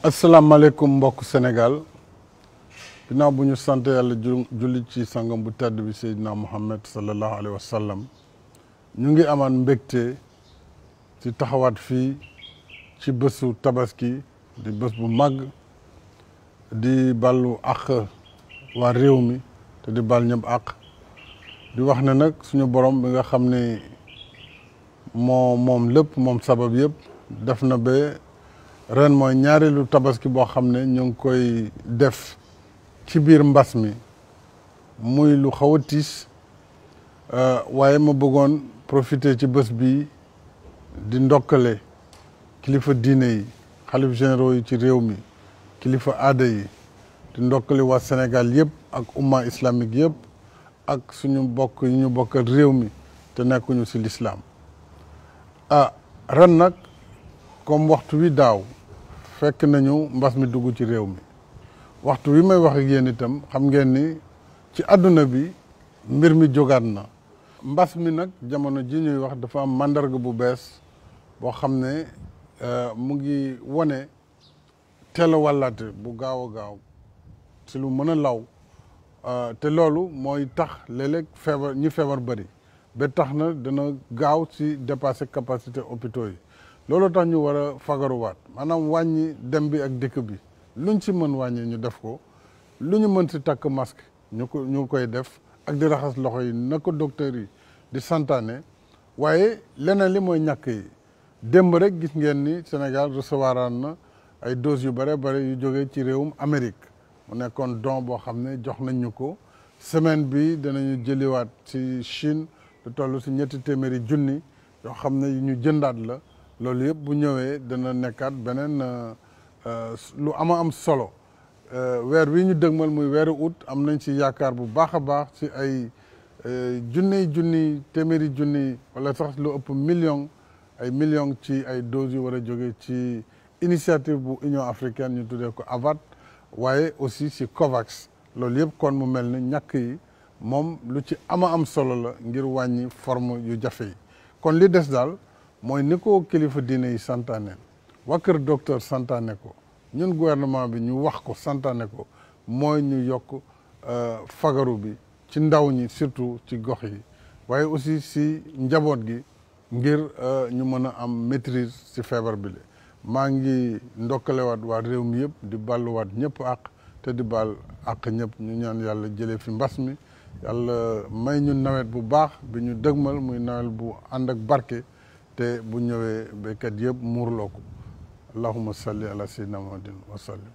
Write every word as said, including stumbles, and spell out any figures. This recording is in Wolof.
asalaamaaleykum mbokk Sénégal ginnaaw bu ñu sant yàlla julli ci sangam bu tedd bi Seydina Muhammad sallallahu alayhi wa sallam ñu ngi amaan mbégte ci taxawaat fii ci bésu tabaski di bés bu màgg di ballu àq waa réew mi te di bal ñëpp àq di wax ne nag suñu borom bi nga xam ne moo moom lépp moom sabab yëpp def na ba ren mooy ñaareelu tabaski boo xam ne ñu ngi koy def ci biir mbas mi muy lu xaw a tiis waaye ma bëggoon profiter ci bés bi di ndokkale kilifa diine yi xalif généraux yi ci réew mi kilifa aada yi di ndokkale waa Sénégal yëpp ak umma islamique yëpp ak suñu bokk yi ñu bokkal réew mi te nekkuñu ci lislaam ah ren nag comme waxtu wi daaw fekk nañu mbas mi dugg ci réew mi waxtu wi may wax ak yéen itam xam ngeen ni ci àdduna bi mbir mi jógaat na mbas mi nag jamono ji ñuy wax dafa am màndarga bu bees boo xam ne mu ngi wone teel a wàllaate bu gaaw a gaaw ci lu mën a law te loolu mooy tax léeg-léeg feebar ñi feebar bëri ba tax na dana gaaw ci dépasser capacité hôpitaux yi loolu tax ñu war a fagaruwaat maanaam wàññi dem bi ak dëkk bi luñ ci mën wàññi ñu def ko lu ñu mën ci takk masque ñu ko ñu koy def ak di raxas loxo yi na ko docteur yi di santaane waaye leneen li mooy ñàkk yi démb rek gis ngeen ni Sénégal recevoir na ay doses yu bare bare yu jógee ci réewum Amérique mu nekkoon don boo xam ne jox nañ ñu ko semaine bi danañu jëliwaat ci Chine lu toll ci ñetti téeméeri junni yoo xam ne yu ñu jëndaat la loolu yëpp bu ñëwee dana nekkaat beneen lu ama am solo weer wi ñu dëgmal muy weeru août am nañ ci yaakaar bu baax a baax ci ay junniy junni téeméeri junni wala sax lu ëpp million ay millions ci ay doses yu war a jóge ci initiative bu Union africaine ñu tuddee ko AVAT waaye aussi ci COVAX loolu yëpp kon mu mel ni ñàkk yi moom lu ci ama am solo la ngir wàññi forme yu jafe yi kon li des daal mooy ni ko kilifa diine yi santaane waa kër docteur santaane ko ñun gouvernement bi ñu wax ko santaane ko mooy ñu yokk fagaru bi ci ndaw ñi surtout ci gox yi waaye aussi si njaboot gi ngir ñu mën a am maîtrise ci feebar bi la maa ngi ndokkalewaat waa réew mi yëpp di balluwaat ñëpp àq te di bal àq ñëpp ñu ñaan yàlla jëlee fi mbas mi yàlla may ñu nawet bu baax bi ñu dëgmal muy nawet bu ànd ak barke te bu ñëwee béykat yëpp muurloo ko allahumma salli ala sayyidina muhammadin wa sallim